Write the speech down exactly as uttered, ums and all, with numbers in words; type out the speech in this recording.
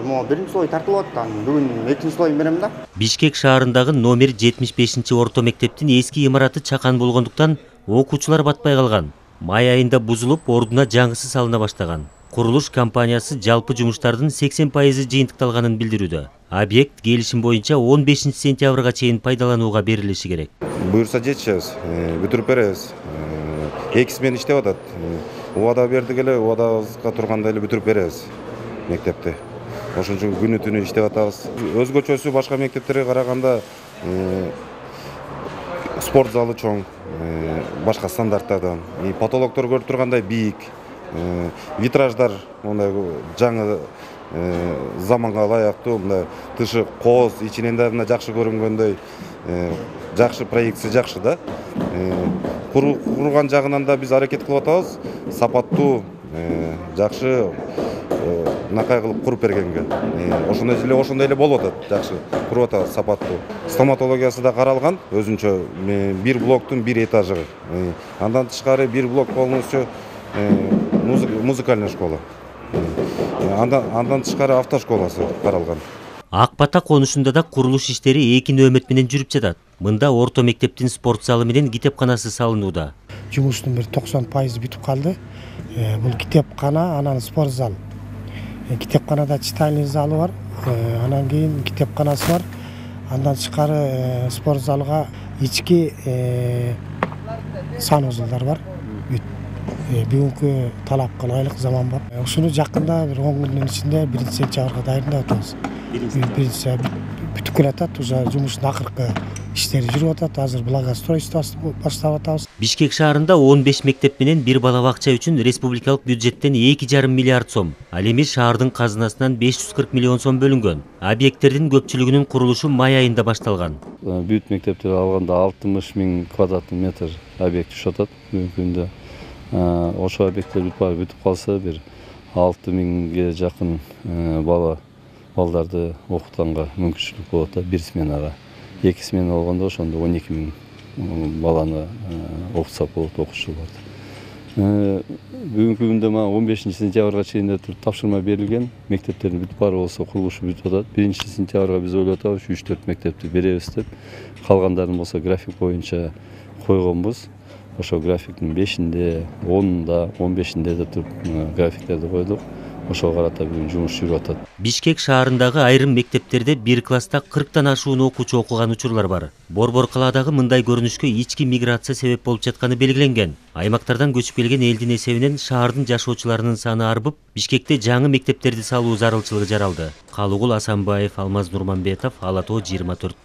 могу биринчи слой тартылып атат. Бүгүн экинчи слойун берем да. Бишкек шаарындагы номер жетимиш бешинчи орто мектептин эски имараты чакан болгондуктан окуучулар батпай калган. Май айында бузулуп, ордуна жаңысы салына баштаган. Курулуш компаниясы жалпы жумуштардын сексен пайызы жыйынтыкталганын билдирүүдө. Объект келишим боюнча он бешинчи сентябрга чейин пайдаланууга берилиши керек. Буюрса жетишебиз, бүтүрүп беребиз. эки смен иштеп атат. Убада бердик эле, убадабызга турганда эле бүтүрүп беребиз мектепти. Ошон үчүн күнү түнү иштеп атабыз. Өзгөчөсү башка мектептерге караганда спорт залы чоң, башка стандарттардан. Потолоктор көрүп тургандай бийик. Витраждар мындай жаңы заманга ылайыктуу, мындай тышы кооз, ичинен да жакшы көрүнгөндөй, жакшы проекция жакшы да. Курган жагынан да биз аракет кылып атабыз. Сапаттуу, жакшы накай кылып куруп бергенге. Ошондой эле ошондой эле болуп атат, жакшы куруп атабыз, сапаттуу. Стоматологиясы да каралган, өзүнчө бир блоктун бир этажы. Андан тышкары бир блок полностью музыкальная школа. Андан андан тышкары автошколасы каралган. Ак Бата конушунда да курулуш иштери эки нөөмөт менен жүрүп жатат. Мында орто мектептин спорт залы менен китепканасы салынууда. Жумуштун бир токсон пайызы бүтүп калды. Бул китепкана, анан спорт зал. Китепканада читальный залы бар, анан кийин китепканасы бар. Андан тышкары спорт залга ички санузулдар бар. Бүгүнкү талапка ылайык заман бар. Ушуну жакында бир он күндүн ичинде биринчи сентябрга дайындап атабыз. Биринчи бүтүп келатат, уже жумуштун акыркы иштери жүрүп атат. Азыр благоустройство баштап атабыз. Бишкек шаарында он беш мектеп менен бир бала бакча үчүн республикалык бюджеттен эки жарым миллиард сом, ал эми шаардын казынасынан беш жүз кырк миллион сом бөлүнгөн. Объекттердин көпчүлүгүнүн курулушу май айында башталган. Бүт мектептер алганда алтымыш миң квадрат метр объект түшүп атат бүгүнкү күндө. Ошо объекттер бүтүп калса бир алты миңге жакын бала балдарды окутканга мүмкүнчүлүк болот да, бир сменага. Эки смена болгондо ошондо он эки миң баланы окутсак болот, окуучуларды. Бүгүнкү күндө мага он бешинчи сентябрга чейин тапшырма берилген. Мектептердин бүт баары болсо курулушу бүтүп атат. биринчи сентябрга биз ойлоп атабыз үч төрт мектепти беребиз деп. Калгандарын болсо график боюнча койгонбуз. Ошо графиктин бешинде, онунда, он бешинде деп туруп графиктерди койдук. Ошого карата бүгүн жумуш жүрүп атат. Бишкек шаарындагы айрым мектептерде бир класста кырктан ашуун окуучу окуган учурлар бар. Борбор калаадагы мындай көрүнүшкө ички миграция себеп болуп жатканы белгиленген. Аймактардан көчүп келген элдин эсебинен шаардын жашоочуларынын саны арбып, Бишкекте жаңы мектептерди салуу зарылчылыгы жаралды. Калыгул Асанбаев, Алмаз Нурманбетов, Ала Тоо жыйырма төрт.